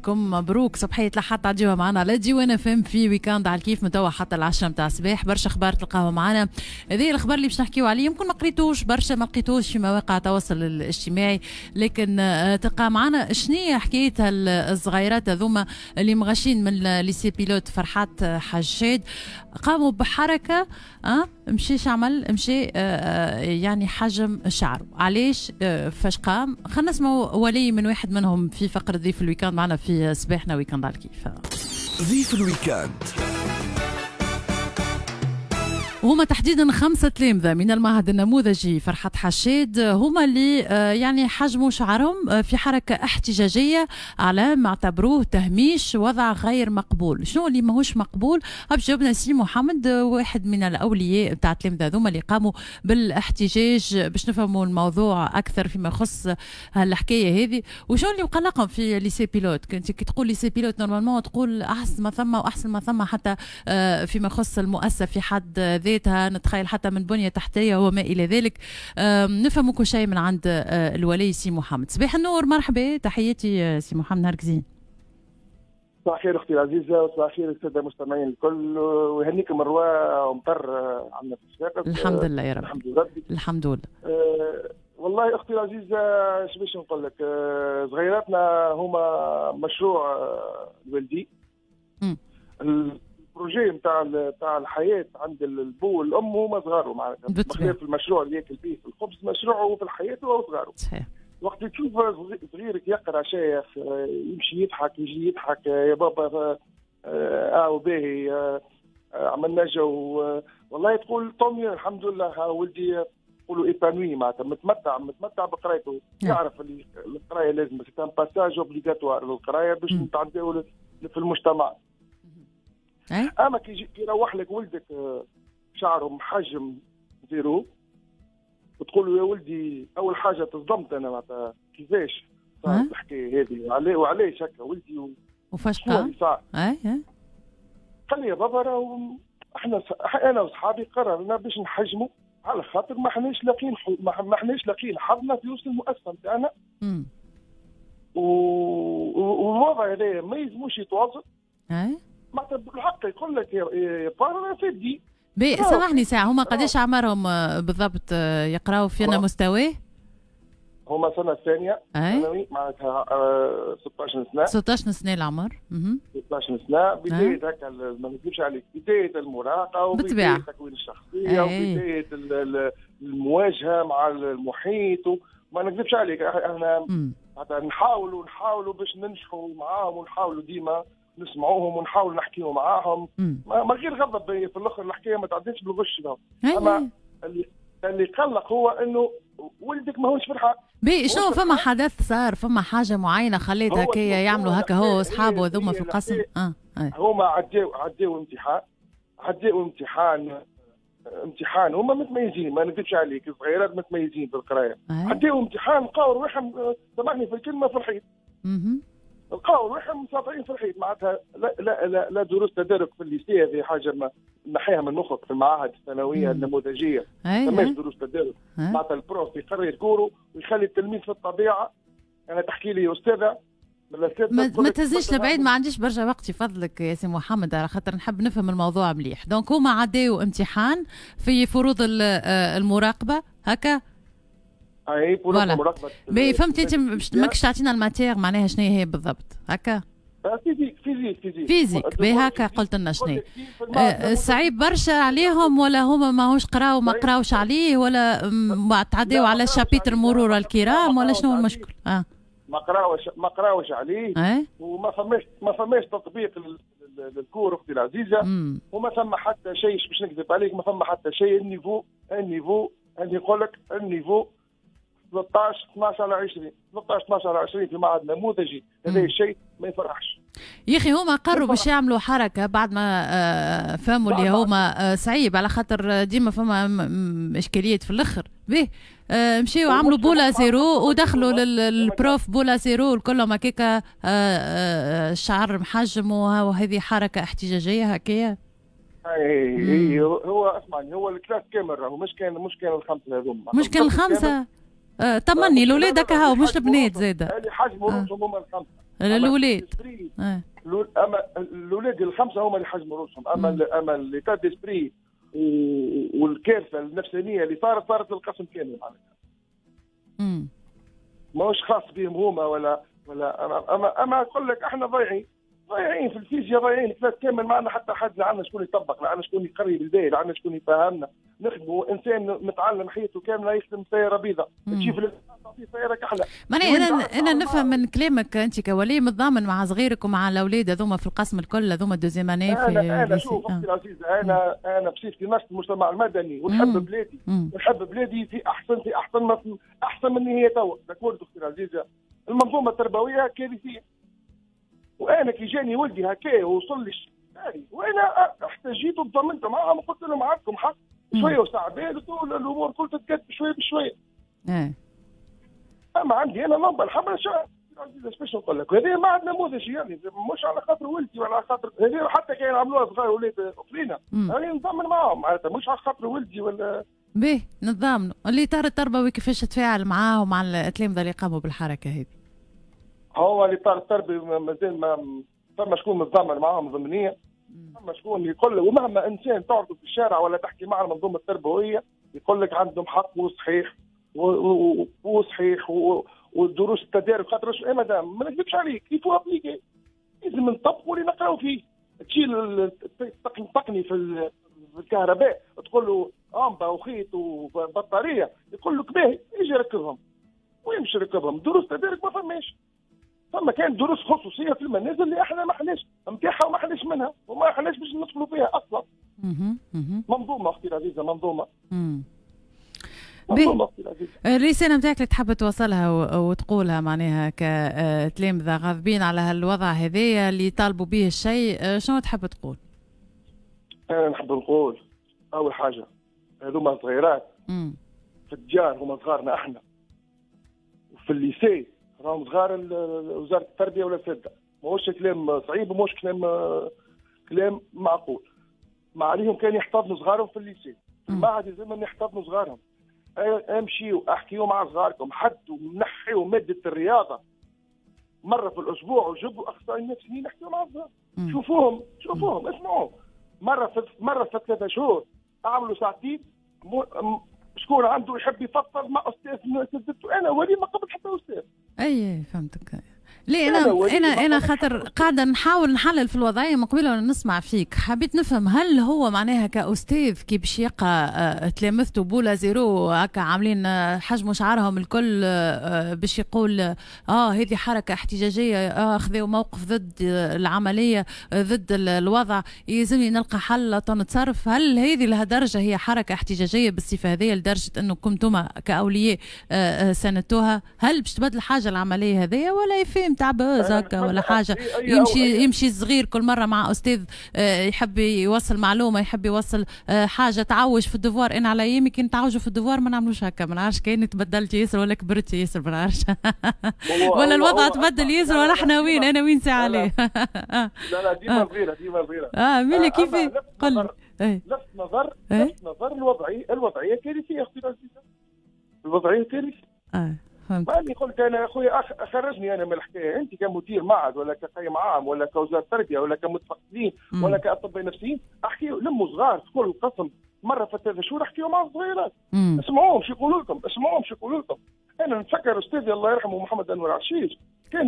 نهاركم مبروك. صبحية لحد تعديوها معنا على ديوان FM في week-end على الكيف من توا حتى 10 متاع الصباح. برشا اخبار تلقاوها معنا. هذه الاخبار اللي باش نحكيو عليه يمكن ما قريتوش برشا، ما لقيتوش في مواقع التواصل الاجتماعي، لكن تلقى معنا شنية حكاية الصغيرات هذوما اللي مغشين من lycée pilote فرحات حشاد، قاموا بحركة مشيش عمل مشي يعني حجم شعره. علاش فاش قام؟ خلينا نسمعوا ولي من واحد منهم في فقرة ضيف ال week-end معنا في صباحنا week-end على الكيف. ضيف ال week-end وهما تحديدا 5 تلامذة من المعهد النموذجي فرحات حشاد، هما اللي يعني حجموا شعرهم في حركة احتجاجية على ما اعتبروه تهميش، وضع غير مقبول. شنو اللي ماهوش مقبول؟ باش جاوبنا سي محمد، واحد من الأولياء بتاع التلامذة هذوما اللي قاموا بالاحتجاج، باش نفهموا الموضوع أكثر فيما يخص هالحكاية هذه وشنو اللي مقلقهم في lycée pilote. كنت كي تقول lycée pilote normalement تقول أحسن ما ثم وأحسن ما ثم حتى فيما يخص المؤسسة في حد ذاتها، نتخيل حتى من بنية تحتية وما إلى ذلك. نفهم كل شيء من عند الولي سي محمد. صباح النور، مرحبا، تحياتي سي محمد، نهارك زين. صباح الخير أختي العزيزة وصباح الخير السادة المستمعين الكل، ويهنيكم الرواء ومطر عندنا في الصفاقس. الحمد لله يا رب، الحمد لله، الحمد لله. والله أختي العزيزة اش باش نقول لك، صغيراتنا هما مشروع الوالدي، ال projet نتاع الحياة عند البو والام هما صغارو، معناتها بخلاف المشروع اللي ياكل فيه في الخبز، مشروعه في الحياة هو صغارو. صحيح. وقت تشوف صغيرك يقرا شيخ، يمشي يضحك، يجي يضحك، يا بابا وباهي عملنا جو، والله تقول tant mieux الحمد لله ولدي، يقولوا épanoui، معناتها متمتع بقرايته، يعرف اللي القراية لازم c'est un passage obligatoire للقرايه باش نتعداو في المجتمع. اما كي يروح لك ولدك شعره محجم zéro وتقول له يا ولدي، اول حاجة تصدمت انا معناتها كيفاش صارت الحكاية هذه، وعلاش هكا ولدي وفاش قام؟ قال لي يا بابا راهو احنا انا وصحابي قررنا باش نحجموا على خاطر ما حناش لاقيين ما حناش لاقيين حظنا في وسط المؤسسة نتاعنا، والوضع هذا ما يلزموش يتواصل. معناتها بالحق يقول لك يا بابا فدي. بي سامحني ساعة، هما قداش عمرهم بالضبط يقراو في أنا مستوى؟ هما سنة ثانية ثانوي، معناتها 16 سنة. 16 سنة العمر. 16 سنة، بداية هكا ما نكذبش عليك، بداية المراهقة وبداية تكوين الشخصية وبداية المواجهة مع المحيط. ما نكذبش عليك احنا نحاولوا باش ننجحوا معاهم، ونحاولوا ديما نسمعوهم ونحاول نحكيو معاهم ما غير غضب. في الاخر الحكاية ما تعديش بالغش. اما اللي قلق هو انه ولدك ماهوش فرحان. بي شنو فما حدث صار، فما حاجة معينة خليت هكايا يعملوا هكا هو واصحابه هذوما في القسم؟ هما عداو امتحان، هما متميزين ما نكذبش عليك، الصغيرات متميزين في القراية. عداو امتحان لقاو رواحهم، سامحني في الكلمة، في الحيط. لقاو روحهم مساطعين في الحيط، معناتها لا لا لا, لا دروس تدارك في ال lycée، هذه حاجة ما نحيها من مخك في المعاهد الثانوية النموذجيه، ما دروس تدارك. معناتها ال prof يقري ال cours ويخلي التلميذ في الطبيعة. انا تحكي لي استاذه ما تهزنيش لبعيد، ما عنديش برشا وقت يفضلك يا سي محمد على خاطر نحب نفهم الموضوع مليح. donc هما عداو امتحان في فروض المراقبة هكا؟ اي فروض المراقبة. mais فهمت انت ماكش تعطينا ال matière معناها شنو هي بالضبط هكا؟ physique physique physique physique باهي هكا قلت لنا شنو صعيب برشا عليهم، ولا هما ماهوش قراو ما قراوش عليه، ولا تعداو على chapitre مرور الكرام، ولا شنو المشكل؟ ما قراوش عليه. وما فماش تطبيق لل cours اختي العزيزة. وما ثم حتى شيء، باش نكذب عليك ما ثم حتى شيء. ال niveau اللي يقول لك ال niveau 13 12 على 20، 13 12 على 20 في معهد نموذجي، هذا الشيء ما يفرحش. يا اخي هما قرروا باش يعملوا حركة بعد ما فهموا اللي هما صعيب، على خاطر ديما فما اشكاليات في الاخر. به مشيو عملوا boule à zéro ودخلوا لل prof boule à zéro الكلهم هكاكا، الشعر محجم، وهذه حركة احتجاجية هكايا. اي هو اسمعني، هو ال classe كامل راهو مش كان الخمسة هذوما، مش كان الخمسة. طمني الاولاد هكا هاو مش البنات زاده. اللي حجموا روسهم هما الخمسة. الاولاد اما الاولاد الخمسة هما اللي حجموا رؤوسهم، اما l'état d'esprit والكارثه النفسانيه اللي صارت للقسم كامل معناتها. ماهوش خاص بهم هما ولا اما نقول لك احنا ضايعين في الفيزياء، ضايعين classe كامل، ما عندنا حتى حد، لا عندنا شكون يطبق، لا عندنا شكون يقري بالباهي، لا عندنا شكون يفهمنا. نخدموا انسان متعلم حياته كاملة يخدم سيارة بيضاء، تجي في تعطيه سيارة كحلة. معناها انا نفهم من كلامك انت كولي متضامن مع صغيرك ومع الاولاد هذوما في القسم الكل، هذوما deuxième année في انا شوف اختي العزيزة، انا بصفتي نشط المجتمع المدني ونحب بلادي، ونحب بلادي في احسن في احسن احسن من هي توا. d'accord اختي العزيزة، المنظومة التربوية كارثية، وانا كي جاني ولدي هكا ووصل لي وانا احتجيت وتضامنت معاهم وقلت لهم عندكم حق شوية وساعة بال الامور كل تتقد بشوية بشوية. اما عندي انا لمبة الحمراء باش نقول لك هذه ما عندنا نموذج، يعني مش على خاطر ولدي ولا على خاطر هذه، حتى كان عملوها صغار ولاد اخرين يعني نضمن معاهم معناتها، مش على خاطر ولدي ولا باهي نتضامنوا. الاطار التربوي كيفاش تفاعل معاه ومع التلامذه اللي قاموا بالحركة هذه؟ هو الاطار التربوي مازال ما فما شكون متضامن معاهم ضمنيا، فما شكون يقول له، ومهما انسان تعرضه في الشارع ولا تحكي معه المنظومة التربوية يقول لك عندهم حق وصحيح وصحيح والدروس التدارك، خاطر ايه مدام ما نكذبش عليك il faut appliquer، لازم نطبقوا اللي نقراو فيه. تشيل التقني في الكهرباء تقول له امبا وخيط وبطاريه، يقول لك باهي يجي يركبهم، ويمشي يركبهم. دروس تدارك ما فماش، فما كان دروس خصوصية في المنازل اللي احنا ما حناش نتاعها وما حناش منها وما حناش باش ندخلوا فيها اصلا. منظومة اختي العزيزة، منظومة. الرسالة نتاعك اللي تحب توصلها وتقولها معناها كتلامذة غاضبين على هالوضع هذايا اللي طالبوا به الشيء، شنو تحب تقول؟ أنا نحب نقول أول حاجة هذوما صغيرات في الديار هما صغارنا احنا، وفي ال lycée راهم صغار وزارة التربية ولا الأساتذة. ماهوش كلام صعيب وماهوش كلام معقول. ما عليهم كان يحتضنوا صغارهم في ال lycée، في المعهد لازمهم يحتضنوا صغارهم. امشيوا احكيوا مع صغاركم، حدوا نحيوا مادة الرياضة مرة في الاسبوع وجيبوا اخصائيين نفسيين يحكيوا مع الصغار. شوفوهم شوفوهم اسمعوهم مرة في 3 شهور، اعملوا ساعتين. شكون عنده يحب يفضل مع استاذ من اساتذته؟ انا ولي ما قبل حتى استاذ. اي فهمتك. ليه انا خاطر قاعدة نحاول نحلل في الوضعية من قبل وانا نسمع فيك، حبيت نفهم هل هو معناها كاستاذ كي باش يلقى تلامذته boule à zéro هكا عاملين حجموا شعرهم الكل باش يقول هذه حركة احتجاجية، خذوا موقف ضد العملية ضد الوضع، يلزمني نلقى حل نتصرف. هل هذه لهالدرجة هي حركة احتجاجية بالصفة هذه لدرجة انه كنتم كاولياء ساندتوها؟ هل باش تبدل حاجة العملية هذه ولا يفهم تاع buzz هكا ولا حاجة؟ يمشي الصغير كل مرة مع استاذ يحب يوصل معلومة، يحب يوصل حاجة، تعوج في ال devoir. انا على ايامي كي نتعوجوا في ال devoir ما نعملوش هكا، ما نعرفش كان تبدلت ياسر ولا كبرت ياسر، ما نعرفش ولا الوضع تبدل ياسر ولا احنا وين، انا وين ساعة عليه. لا لا ديما صغيرة، ديما صغيرة. ملي كيف قل لفت نظر الوضعية كارثية اختي العزيزة، الوضعية كارثية. ماني قلت انا يا خويا خرجني انا من الحكاية، انت كمدير معهد ولا كقيم عام ولا كوزارة تربيه ولا كمتفقدين ولا كاطباء نفسيين، احكيوا لموا صغار في كل قسم مرة في 3 شهور، احكيوا مع الصغيرات، اسمعوهم شو يقولوا لكم، اسمعوهم شو يقولوا لكم. انا نتفكر استاذي الله يرحمه محمد انور عشيش كان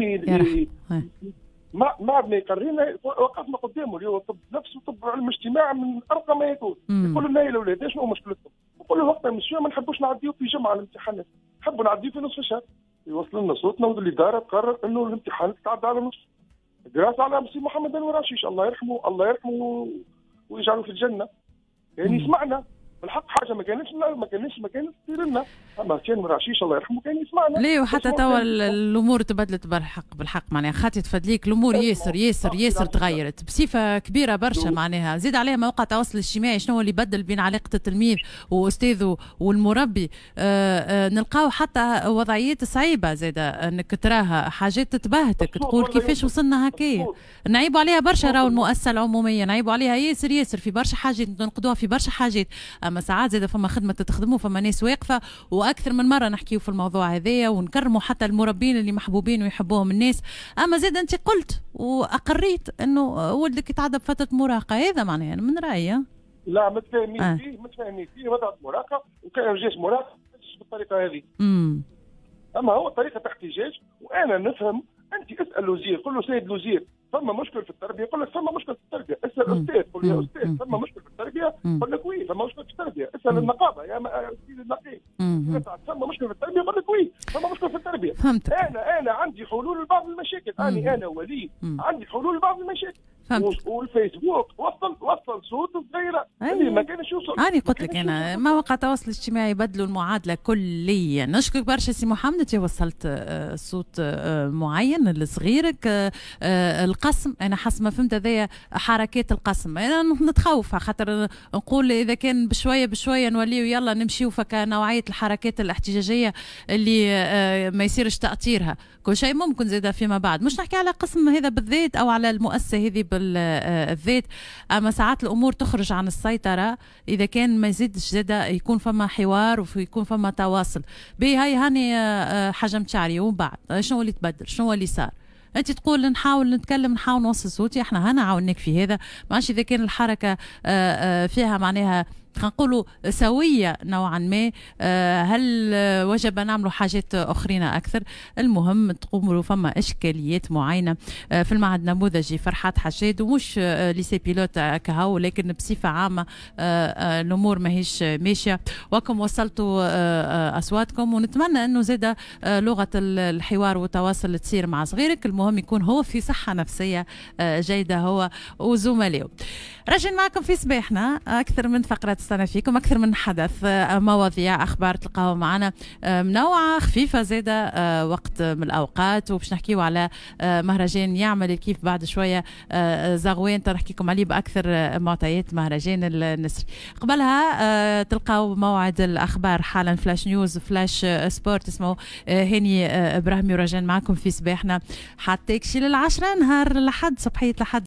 ما يقرينا، وقفنا قدامه اللي هو طب نفس وطب علم اجتماع من ارقى ما يكون، يقول لنا يا الاولاد شنو مشكلتكم؟ نقول له وقتها مسيو ما نحبوش نعديو في جمعه الامتحانات، نحبوا نعديو في نصف الشهر. يوصل لنا صوتنا والادارة تقرر انه الامتحان تتعدى على نص دراسة على مسيو محمد انور عشيش الله يرحمه، الله يرحمه ويجعله في الجنة. يعني سمعنا بالحق حاجة ما كانتش تصير لنا، اما كان عشيش الله يرحمه كان يسمعنا. ليه وحتى توا الامور تبدلت بالحق معناها خاطر تفدليك الامور ياسر ياسر ياسر تغيرت بصفة كبيرة برشا معناها، زيد عليها مواقع التواصل الاجتماعي شنو اللي بدل بين علاقة التلميذ واستاذه والمربي. نلقاو حتى وضعيات صعيبة زاده انك تراها حاجات تتبهتك تقول كيفاش وصلنا هكايا. نعيبوا عليها برشا راهو المؤسسة العمومية، نعيبوا عليها ياسر ياسر في برشا حاجات، ننقدوها في برشا حاجات، اما ساعات زاد فما خدمة تخدموا، فما ناس واقفه، واكثر من مرة نحكيو في الموضوع هذايا ونكرموا حتى المربين اللي محبوبين ويحبوهم الناس. اما زاد انت قلت واقريت انه ولدك يتعدى بفترة مراهقه، هذا معناها من رايي. لا، متفاهمين فيه، متفاهمين فيه وضع مراهقه، وكان جاش مراهقة بالطريقة هذه. اما هو طريقه احتجاج، وانا نفهم. انت اسال الوزير، قل له سيد الوزير فما مشكل في التربيه، يقول لك فما مشكل في التربيه. اسال الاستاذ، قل له يا استاذ فما مشكل في التربيه، يقول لك oui فما مشكل في التربيه. اسال النقابه، يا سيدي النقيب فما مشكل في التربيه، يقول لك oui فما مشكل في التربيه. فهمت. انا عندي حلول لبعض المشاكل، انا ولي عندي حلول لبعض المشاكل. فهمت. والفيسبوك وصل صوت صغيرة اللي ما كانش يوصل. انا قلت لك انا مواقع التواصل الاجتماعي بدلوا المعادلة كليا. نشكرك برشا سي محمد، انت وصلت صوت معين لصغيرك. القسم انا حسب ما فهمت هذايا حركات القسم، انا نتخوف خاطر نقول اذا كان بشوية بشوية نوليو يلا نمشيو فكنوعيه الحركات الاحتجاجية اللي ما يصيرش تاطيرها، كل شيء ممكن زاد فيما بعد. مش نحكي على قسم هذا بالذات او على المؤسسة هذه بالذات، اما ساعات الامور تخرج عن السيطرة اذا كان ما يزيدش زاد يكون فما حوار ويكون فما تواصل. بي هاي هاني حجمت شعري، ومن بعد شنو اللي تبدل؟ شنو اللي صار؟ انت تقول نحاول نتكلم، نحاول نوصل صوتي، احنا هنا عاوناك في هذا. ماشي اذا كان الحركة فيها معناها خلينا نقولوا سويه نوعا ما، هل وجب نعملوا حاجات اخرين اكثر؟ المهم تقوموا فما اشكاليات معينة في المعهد النموذجي فرحات حشاد، ومش lycée pilote كهو، لكن بصفة عامة الامور ماهيش ماشية، وكم وصلتوا اصواتكم، ونتمنى انه زاد لغة الحوار والتواصل تصير مع صغيرك. المهم يكون هو في صحة نفسية جيدة هو وزملائه. رجعنا معكم في صباحنا اكثر من فقره تستنى فيكم، اكثر من حدث، مواضيع، اخبار تلقاو معنا منوعة خفيفة زاده وقت من الاوقات. وباش نحكيو على مهرجان يعمل كيف بعد شوية زغوان، نحكيكم عليه باكثر معطيات مهرجان النسري. قبلها تلقاو موعد الاخبار حالا، flash news، flash sport، اسمه هاني ابراهيم، ورجعنا معكم في صباحنا حتى يكشي للعشرة نهار لحد صبحيه لحد.